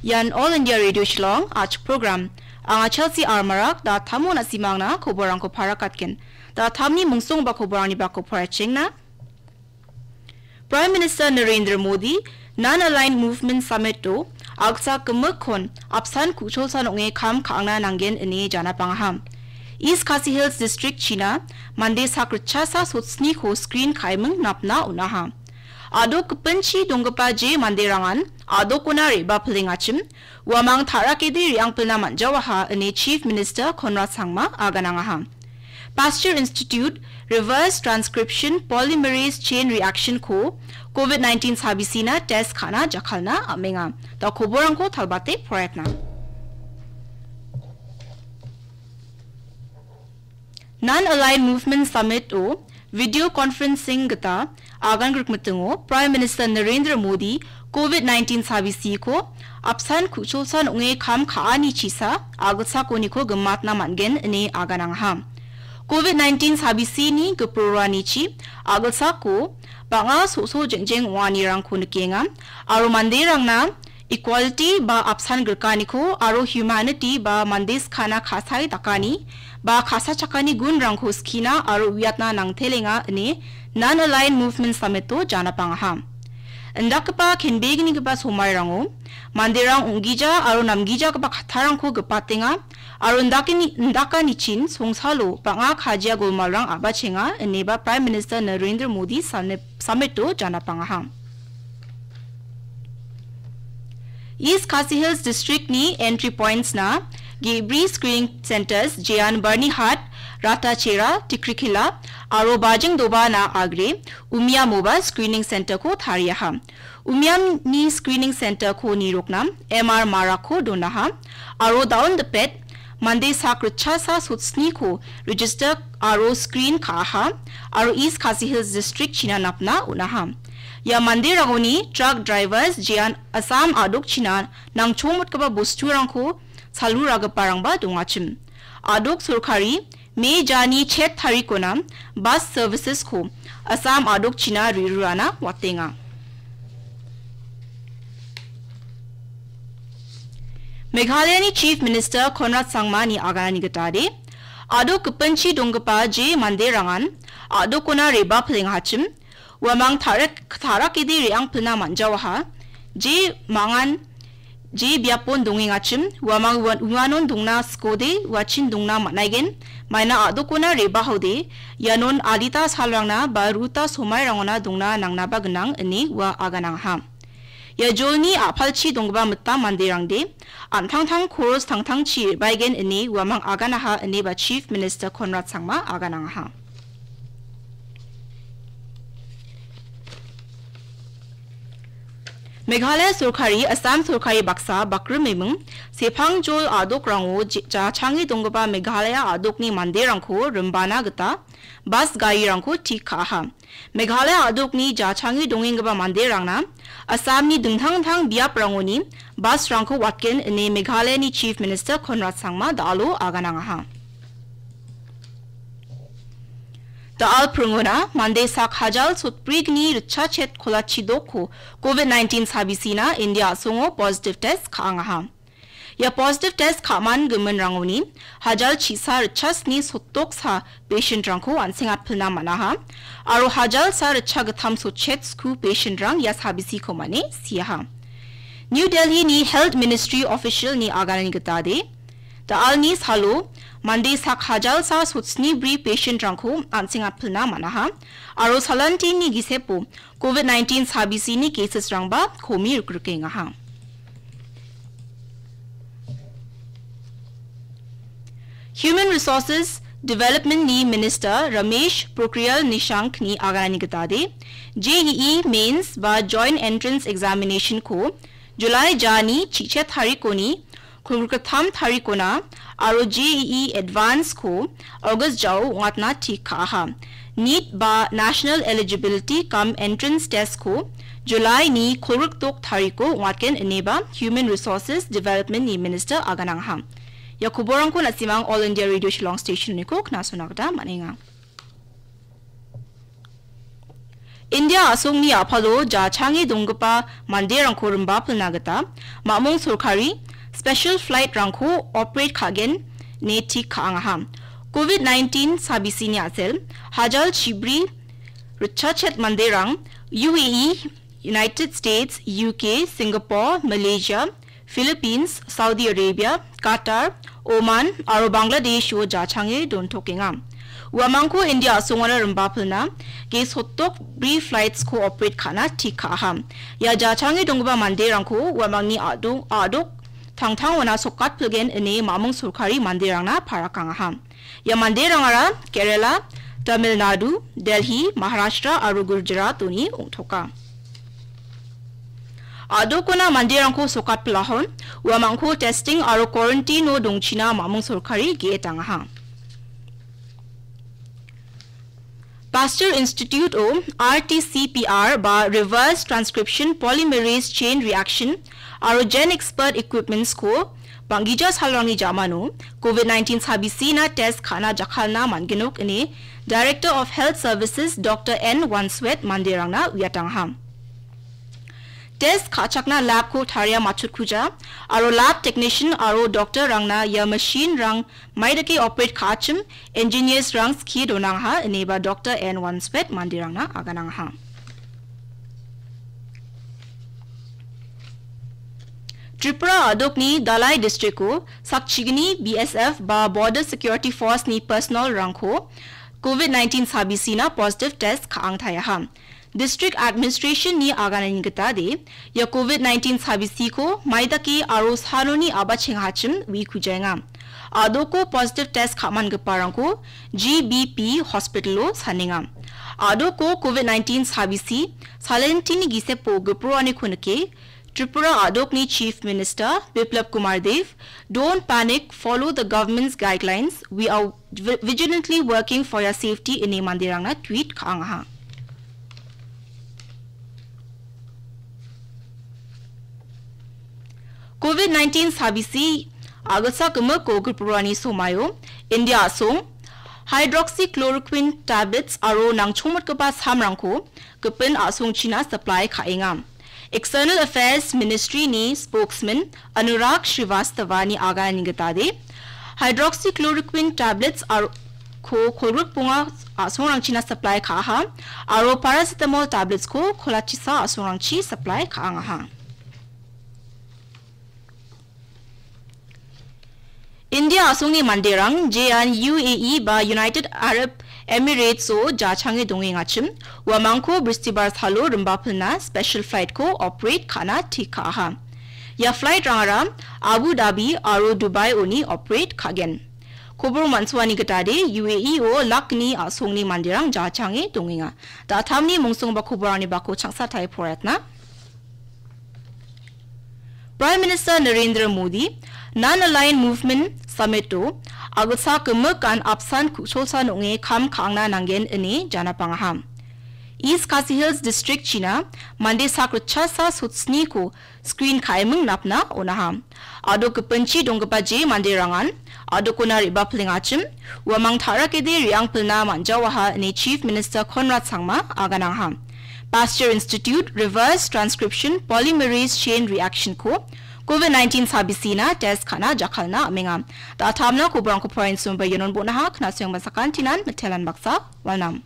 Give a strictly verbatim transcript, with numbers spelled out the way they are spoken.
Ian All India Radio Shillong, a·chik program. Anga Chelsea Armarak, da·tamo na·simangna koborangko parakatgen. Da·tamni mungsongba koborangni bako poraichengna. Prime Minister Narendra Modi, Non-Aligned Movement Summit-o, a·gitchak gimikkon apsan ku·cholsan ong·e kam ka·angna nanggen ine janapangaha. East Khasi Hills District-china mande sakritchasa sotsniko screen ka·eming napna on·aha. A·dok gipinchi donggipa je manderangan a·dokona re·baa pilengachim, uamang ta·rakede re·angpilna man·jawaha ine Chief Minister Conrad Sangma aganangaha. Pasteur Institute Reverse Transcription Polymerase Chain Reaction-ko covid nineteen sabisina test ka·na jakkalna am·enga. Da koborangko talbate poraiatna. Non-Aligned Movement Summit-o video conferencing gita agan grikmitingo Prime Minister Narendra Modi covid nineteen sabisiko apsan ku·cholsan ong·e kam ka·ani chisa a·gitchakoniko gimatna man·gen ine aganangaha. Covid nineteen sabisini giproranichi a·gitchako bang·a so·so jengjeng ong·anirangko nikenga aro manderangna equality ba apsan grikaniko aro humanity ba mande skana ka·sae dakani ba ka·sachakani gunrangko skina aro uiatna nangtelenga ine Non-Aligned Movement Summit-o janapangaha. Indakgipa kenbegnigipa somairango manderang ong·gija aro namgijagipa kattarangko gipatenga aro indakani-, indakanichin songsalo bang·a kajia golmalrang a·bachenga ineba Prime Minister Narendra Modi sane-, Summit-o janapangaha. East Khasi Hills District-ni entry points-na ge·bri screening centres jean Byrnihat, Ratachera, Tikrikilla aro Bajingdobana agre Umiamoba screening centre-ko tariaha. Umiamni screening centre-ko nirokna M R Marakko donaha aro daon dipet mande sakritchasa sotsniko register aro screen ka·aha aro East Khasi Hills District-china napna on·aha. Ia manderangoni truck drivers jean Assam a·dokchina nangchongmotgipa bosturangko saluragiparangba dongachim. A·dok sorkari Me jani chet tarikona bus services-ko Assam a·dokchina rirurana watenga. Meghalayani Chief Minister Conrad Sangmani aganani gitade, a·dok gipinchi donggipa je manderangan a·dokona re·baa pilengachim, uamang tarek-, tarakede re·angpilna man·jawaha, je mangan, je biapon dongengachim, uamang ua-, uanon dongna skode, uachin dongna man·aigen, maina a·dokona re·bahaode, ianon adita salrangna ba ruta somairangona dongna nangnaba gnang, ine ua aganangaha. Ia jolni a·palchi donggipa mitam manderangde, an·tangtang koros tangtangchi re·baegen ine uamang aganaha ineba Chief Minister Conrad Sangma aganangaha. Meghalaya sorkari, Assam sorkari baksa bakrimeming sepangjol a·dokrango je-, jachange donggipa Meghalaya a·dokni manderangko rimbana gita bas garirangko tik ka·aha. Meghalaya a·dokni jachange dongenggipa manderangna Assamni dingtang dingtang biaprangoni busrangko watgen ine Meghalayani Chief Minister Conrad Sangma da·alo aganangaha. Da·al pringona mande sak hajal sotbrigni ritchachet kolachi dokko covid nineteen sabisina India a·songo positive test ka·angaha. Ia positive test ka·man giminrangoni hajal chisa ritchasni sotdoksa patientrangko an·sengatpilna man·aha, aro hajal sa ritchagittam sotchetsku patientrang ia sabisiko mane siaha. New Delhi-ni Health Ministry official-ni aganani gitade, da·alni salo mande sak hajal sa sotsnibri patientrangko an·sengatpilna man·aha, aro salantini gisepo covid nineteen sabisini cases-rangba komi rikrikengaha. Human Resources Development-ni Minister Ramesh Pokhriyal Nishank-ni aganani gitade, J E E Mains ba Joint Entrance Examination-ko July jani chichet tarikoni kolgrittam tarikona aro J E E Advance-ko August jao ong·atna tik ka·aha. NEET ba National Eligibility cum Entrance Test-ko July-ni kolgrikdok tariko ong·atgen ineba Human Resources Development-ni Minister aganangaha. Ia koborangko na·simang All India Radio Shillong Station-niko knasona gita man·enga. India a·songni a·palo jachange donggipa manderangko rimbapilna gita mamung sorkari special flight-rangko operate ka·gen ine tik ka·angaha. Covid nineteen sabisini a·sel hajal chibri ritchachet manderang U A E, United States, U K, Singapore, Malaysia, Philippines, Saudi Arabia, Qatar, Oman aro Bangladesh-o jachange dontokenga. Uamangko India a·songara rimbapilna ge sotdok bri flights-ko operate ka·na tik ka·aha. Ia jachange donggipa manderangko uamangni a·dok, a·dok tangtangona sokatpilgen ine mamung sorkari manderangna parakangaha. Ia manderangara Kerala, Tamil Nadu, Delhi, Maharashtra aro Gujarat-oni ong·toka. A·dokona manderangko sokatpilahon, uamangko testing aro quarantine-o dongchina mamung sorkari ge·etangaha. Pasteur Institute-o R T C P R ba Reverse Transcription Polymerase Chain Reaction aro Gen Expert Equipments-ko bang·gija salrangni jamano Covid nineteen sabisina test ka·na jakkalna man·genok ine Director of Health Services Doctor N Wanswet manderangna uiatangaha. Test ka·chakna lab-ko taria matchotkuja aro lab technician aro doctor-rangna ia machine-rang maidake operate ka·achim engineers-rang skie donangaha ineba Doctor N Wanswet manderangna aganangaha. Tripura a·dokni Dalai district-o sakchigni B S F ba Border Security Force-ni personnel-rangko Covid nineteen sabisina positive test ka·angtaiaha. District Administration-ni aganani gitade, ia Covid nineteen sabisiko maidake aro sanoni a·bachengachim uikujaenga. A·doko positive test ka·mangiparangko G B P hospital-o sanenga. A·doko Covid nineteen sabisi salentini gisepo giproaniko nike, Tripura a·dokni Chief Minister Biplab Kumar Dev, "Don't panic, follow the government's guidelines. We are vi-, vigilantly working for your safety," ine manderangna tweet ka·angaha. Covid nineteen sabisi a·gilsak gimik ko giproani somaio India a·song hydroxychloroquine tablets aro nangchongmotgipa samrangko gipin a·songchina supply ka·enga. External Affairs Ministry-ni spokesman Anurag Srivastava-ni aganani gitade, hydroxychloroquine tablets aro ko kolgrikbonga a·songrangchina supply ka·aha, aro paracetamol tablets-ko kolachisa a·songrangchi supply ka·angaha. India a·songni manderang jean U A E ba United Arab Emirates-o jachange dongengachim, uamangko Bristibar salo rimbapilna special flight-ko operate ka·na tik ka·aha. Ia flight-rangara Abu Dhabi aro Dubai-oni operate ka·gen. Kobor man·suani gitade U A E-o lakni a·songni manderang jachange dongenga. Da·tamni mongsongba koborangni bako changsatai poraiatna. Prime Minister Narendra Modi, Non-Aligned Movement Summit-o, a·gilsak gimik an apsan ku·cholsan ong·e kam ka·angna nanggen ine janapangaha. East Khasi Hills District-china mande sak ritchasa sotsniko screen ka·eming napna on·aha. A·dok gipinchi donggipa je manderangan a·dokona re·baplengachim, uamang ta·rakede re·angpilna man·jaoaha ine Chief Minister Conrad Sangma aganangaha. Pasteur Institute Reverse Transcription Polymerase Chain Reaction-ko Covid nineteen sabisina test ka·na jakkalna am·enga. Da·tamna koborangko porainchimba ianon bon·aha, knasoengba sakantinan mitelan baksa walnam.